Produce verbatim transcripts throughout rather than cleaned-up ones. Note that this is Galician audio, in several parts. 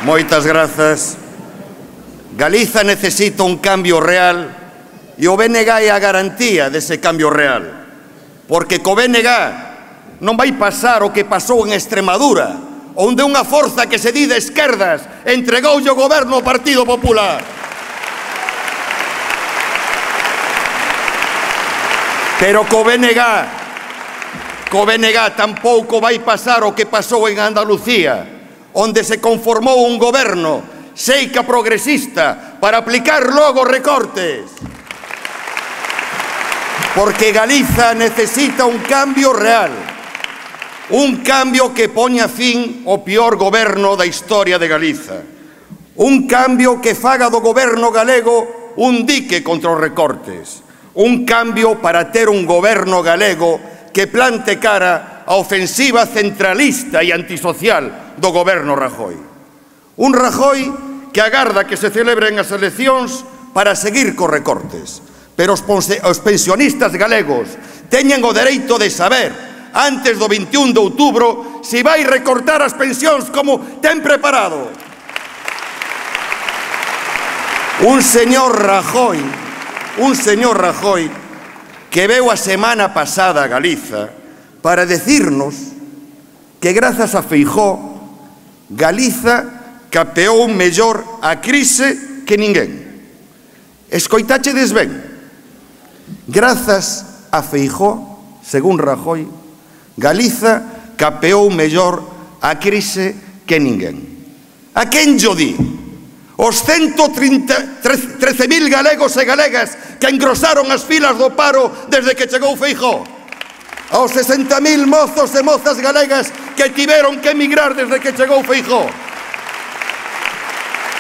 Moitas grazas. Galiza necesita un cambio real e o B N G é a garantía dese cambio real. Porque co B N G non vai pasar o que pasou en Extremadura, onde unha forza que se di de esquerdas entregoulle o goberno ao Partido Popular. Pero co B N G, co B N G tampouco vai pasar o que pasou en Andalucía, onde se conformou un goberno seica progresista para aplicar logo recortes. Porque Galiza necesita un cambio real, un cambio que poña fin ao peor goberno da historia de Galiza, un cambio que faga do goberno galego un dique contra os recortes, un cambio para ter un goberno galego que plante cara a ofensiva centralista e antisocial do goberno Rajoy. Un Rajoy que agarda que se celebren as eleccións para seguir cos recortes. Pero os pensionistas galegos teñen o dereito de saber, antes do vinte e un de outubro, se vai recortar as pensións como ten preparado. Un señor Rajoy, un señor Rajoy que veu a semana pasada a Galiza para decirnos que grazas a Feijóo Galiza capeou mellor a crise que ninguén. Escoitáchedes ben? Grazas a Feijóo, según Rajoy, Galiza capeou mellor a crise que ninguén. A quen llo di? Os ciento trece mil galegos e galegas que engrosaron as filas do paro desde que chegou Feijóo. Aos sesenta mil mozos e mozas galegas que tiveron que emigrar desde que chegou Feijóo.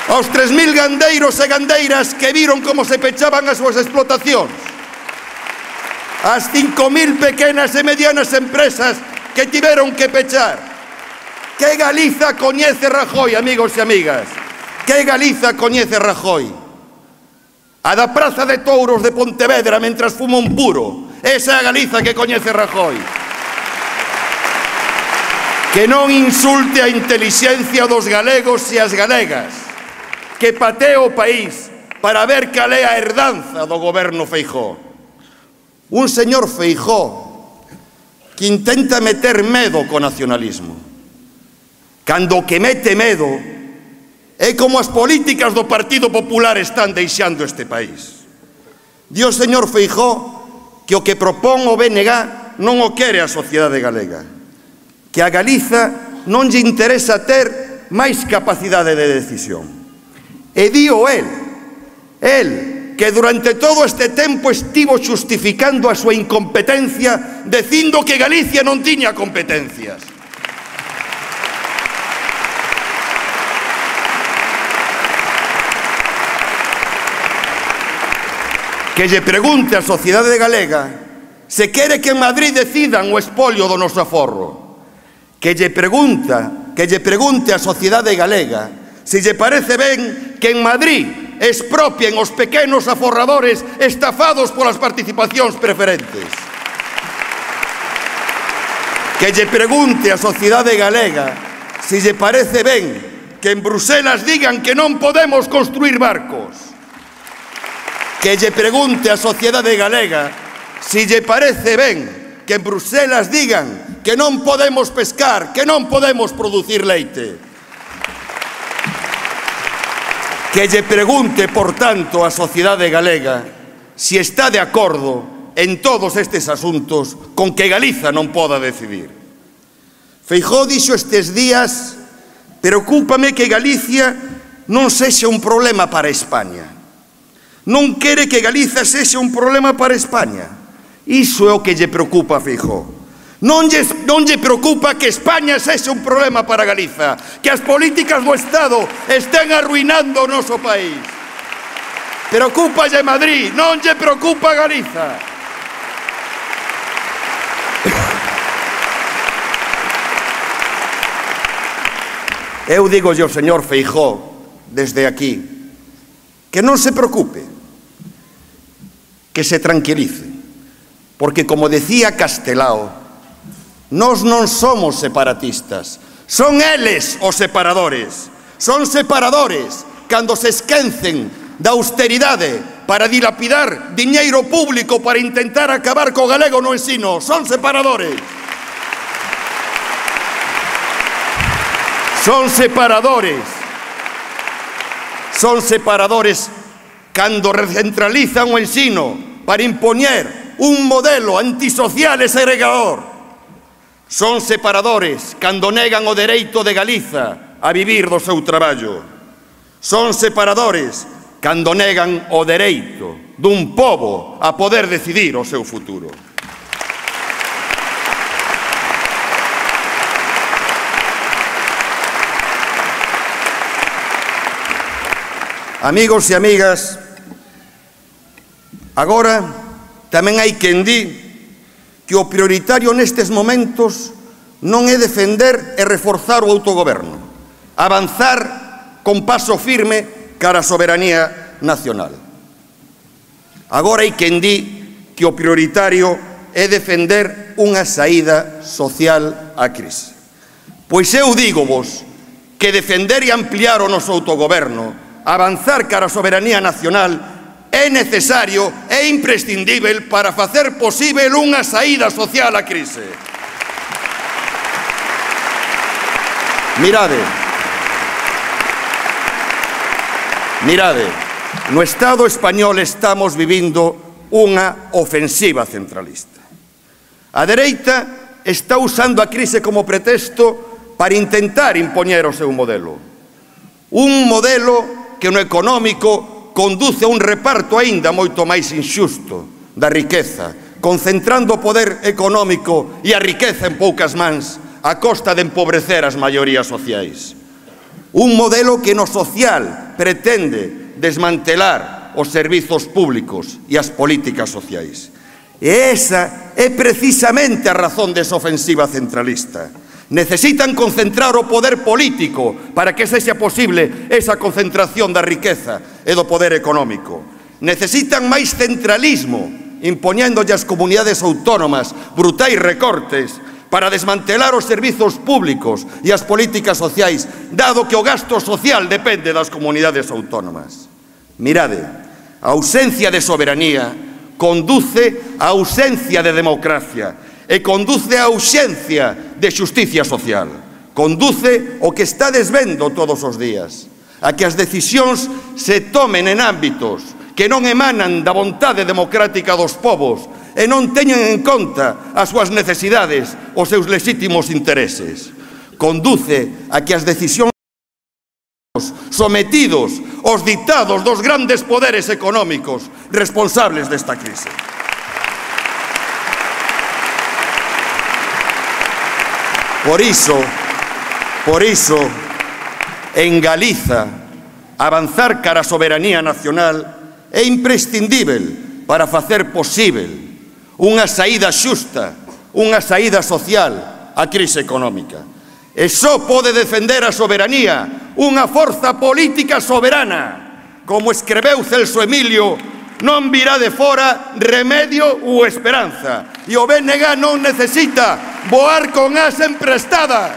Aos tres mil gandeiros e gandeiras que viron como se pechaban as súas explotacións. As cinco mil pequenas e medianas empresas que tiveron que pechar. Que Galiza coñece Rajoy, amigos e amigas? Que Galiza coñece Rajoy? A da Praza de Touros de Pontevedra mentras fuma un puro. Esa é a Galiza que coñece Rajoy. Que non insulte a intelixencia dos galegos e as galegas, que patee o país para ver cal é a herdanza do goberno Feijóo. Un señor Feijóo que intenta meter medo co nacionalismo, cando o que mete medo é como as políticas do Partido Popular están deixando este país. Di o señor Feijóo que o que propón o B N G non o quere a sociedade galega, que a Galiza non lle interesa ter máis capacidade de decisión. E dío el, el, que durante todo este tempo estivo xustificando a súa incompetencia dicindo que Galicia non tiña competencias. Que lle pregunte a sociedade galega se quere que en Madrid decidan o espolio do noso aforro. Que lle pregunta, que lle pregunte a sociedade galega se lle parece ben que en Madrid expropien os pequenos aforradores estafados polas participacións preferentes. Que lle pregunte a sociedade galega se lle parece ben que en Bruselas digan que non podemos construir barcos. Que lle pregunte a sociedade galega se lle parece ben que en Bruselas digan que non podemos pescar, que non podemos producir leite. Que lle pregunte, por tanto, a sociedade galega se está de acordo en todos estes asuntos con que Galiza non poda decidir. Feijóo dixo estes días: preocúpame que Galicia non sexa un problema para España. Non quere que Galiza sexa un problema para España. Iso é o que lle preocupa a Feijóo. Non lle, non lle preocupa que España sexa un problema para Galiza, que as políticas do Estado estén arruinando o noso país. Preocúpalle Madrid, non lle preocupa Galiza. Eu digo ao señor Feijóo desde aquí que non se preocupe, que se tranquilice, porque, como decía Castelao, nós non somos separatistas, son eles os separadores, Son separadores cando se esquecen da austeridade para dilapidar diñeiro público para intentar acabar co galego no ensino. Son separadores. Son separadores. Son separadores cando recentralizan o ensino para impoñer un modelo antisocial e segregador. Son separadores cando negan o dereito de Galiza a vivir do seu traballo. Son separadores cando negan o dereito dun pobo a poder decidir o seu futuro. Amigos e amigas, agora tamén hai quen di que o prioritario nestes momentos non é defender e reforzar o autogoberno, avanzar con paso firme cara a soberanía nacional. Agora hai quen di que o prioritario é defender unha saída social á crise. Pois eu dígovos que defender e ampliar o noso autogoberno, avanzar cara a soberanía nacional, é necesario e imprescindível para facer posible unha saída social á crise. Mirade, mirade, no Estado español estamos vivindo unha ofensiva centralista. A dereita está usando a crise como pretexto para intentar impoñer o seu modelo. Un modelo que no económico conduce a un reparto aínda moito máis inxusto da riqueza, concentrando o poder económico e a riqueza en poucas mans a costa de empobrecer as maiorías sociais. Un modelo que no social pretende desmantelar os servizos públicos e as políticas sociais. E esa é precisamente a razón desa ofensiva centralista. Necesitan concentrar o poder político para que sexa posible esa concentración da riqueza e do poder económico. Necesitan máis centralismo, impoñéndolle ás comunidades autónomas brutais recortes para desmantelar os servizos públicos e as políticas sociais, dado que o gasto social depende das comunidades autónomas. Mirade, a ausencia de soberanía conduce a ausencia de democracia e conduce a ausencia de xusticia social. Conduce o que está desvendo todos os días, a que as decisións se tomen en ámbitos que non emanan da vontade democrática dos povos e non teñen en conta as súas necesidades, os seus lexítimos intereses. Conduce a que as decisións sometidos aos ditados dos grandes poderes económicos responsables desta crise. Por iso, por iso, en Galiza, avanzar cara a soberanía nacional é imprescindível para facer posível unha saída xusta, unha saída social á crise económica. E só pode defender a soberanía unha forza política soberana. Como escreveu Celso Emilio, non virá de fora remedio ou esperanza. E o B N G non necesita voar con as emprestadas.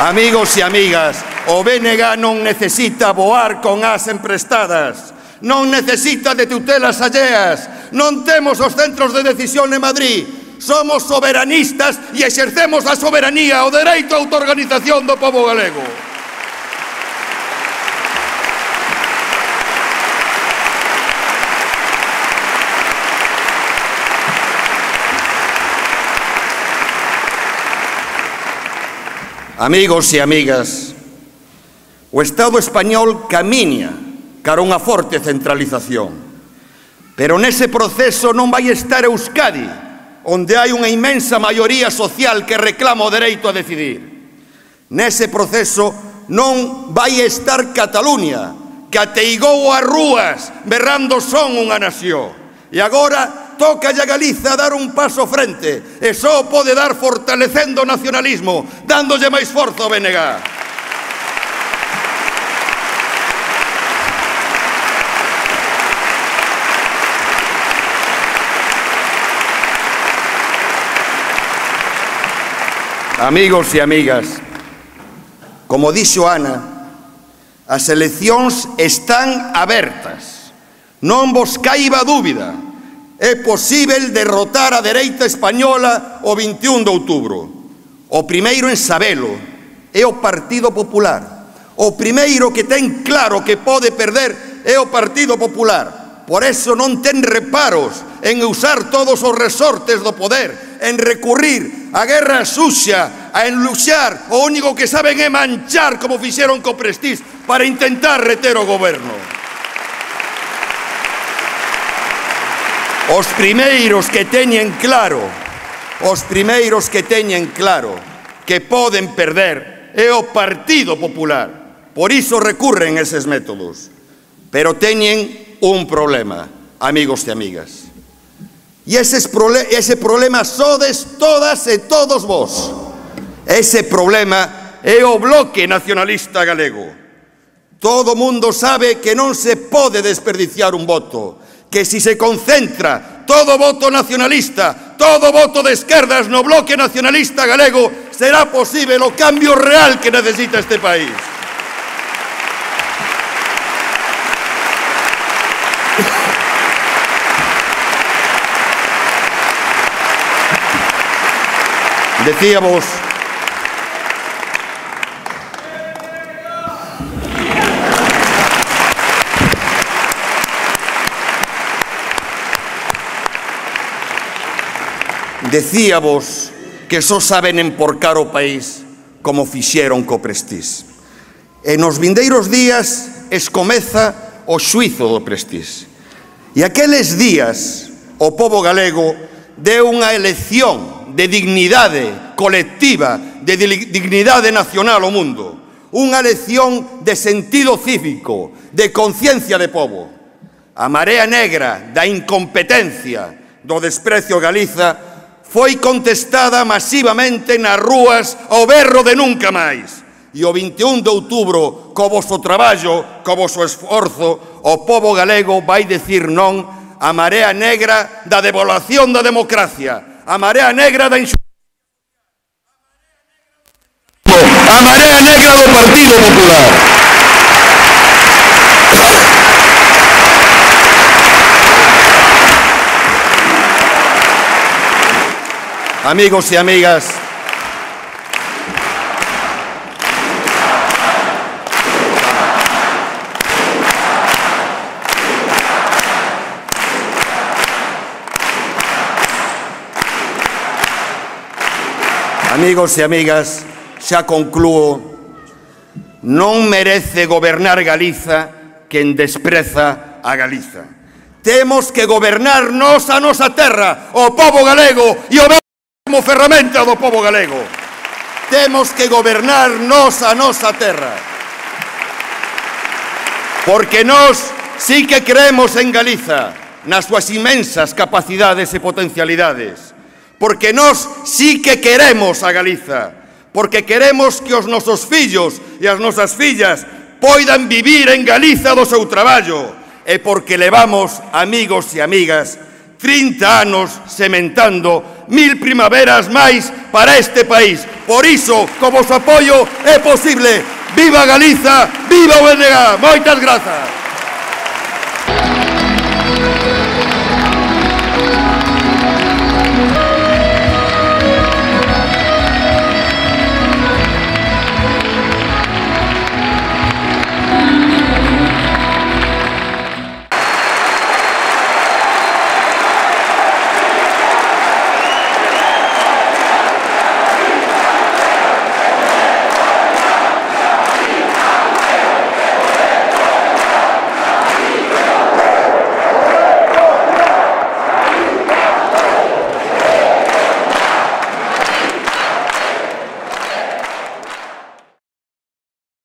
Amigos e amigas, o B N G non necesita voar con as emprestadas. Non necesita de tutelas alleas. Non temos os centros de decisión en Madrid. Somos soberanistas e exercemos a soberanía, o dereito á autoorganización do pobo galego. Amigos e amigas, o Estado español camiña cara a unha forte centralización, pero nese proceso non vai estar Euskadi, onde hai unha inmensa maioría social que reclama o dereito a decidir. Nese proceso non vai estar Cataluña, que ateigou as rúas berrando son unha nación. E agora toca a Galiza dar un paso frente, e só pode dar fortalecendo o nacionalismo, dándolle máis forza ao B N G. Amigos e amigas, como dixo Ana, as eleccións están abertas. Non vos caiba dúbida. É posíbel derrotar a dereita española o vinte e un de outubro. O primeiro en sabelo é o Partido Popular. O primeiro que ten claro que pode perder é o Partido Popular. Por eso non ten reparos en usar todos os resortes do poder, en recurrir a guerra sucia, a enluxar, o único que saben é manchar como fixeron co Prestige para intentar reter o goberno. Os primeiros que teñen claro, os primeiros que teñen claro que poden perder é o Partido Popular. Por iso recurren eses métodos. Pero teñen un problema, amigos e amigas. E ese problema sodes todas e todos vos. Ese problema é o Bloque Nacionalista Galego. Todo mundo sabe que non se pode desperdiciar un voto, que si se concentra todo voto nacionalista, todo voto de esquerdas no Bloque Nacionalista Galego, será posible o cambio real que necesita este país. Decíamos, decíamos que só saben emporcar o país como fixeron co Prestige. E nos vindeiros días escomeza o xuizo do Prestige. E aqueles días o pobo galego deu unha elección de dignidade colectiva, de dignidade nacional ao mundo. Unha lección de sentido cívico, de conciencia de pobo. A marea negra da incompetencia, do desprecio a Galiza, foi contestada masivamente nas rúas ao berro de nunca máis. E o vinte e un de outubro, co vosso traballo, co vosso esforzo, o pobo galego vai dicir non a marea negra da devaluación da democracia, a marea negra da injusticia, a marea negra do Partido Popular. Amigos e amigas, Amigos e amigas, xa conclúo, non merece gobernar Galiza quen despreza a Galiza. Temos que gobernar nós a nosa terra, o pobo galego, e o como ferramenta do pobo galego. Temos que gobernar nós a nosa terra. Porque nós sí que creemos en Galiza, nas súas inmensas capacidades e potencialidades. Porque nós sí que queremos a Galiza, porque queremos que os nosos fillos e as nosas fillas poidan vivir en Galiza do seu traballo, e porque levamos, amigos e amigas, trinta anos sementando mil primaveras máis para este país. Por iso, co vosso apoio, é posible. Viva Galiza, viva o B N G! Moitas grazas!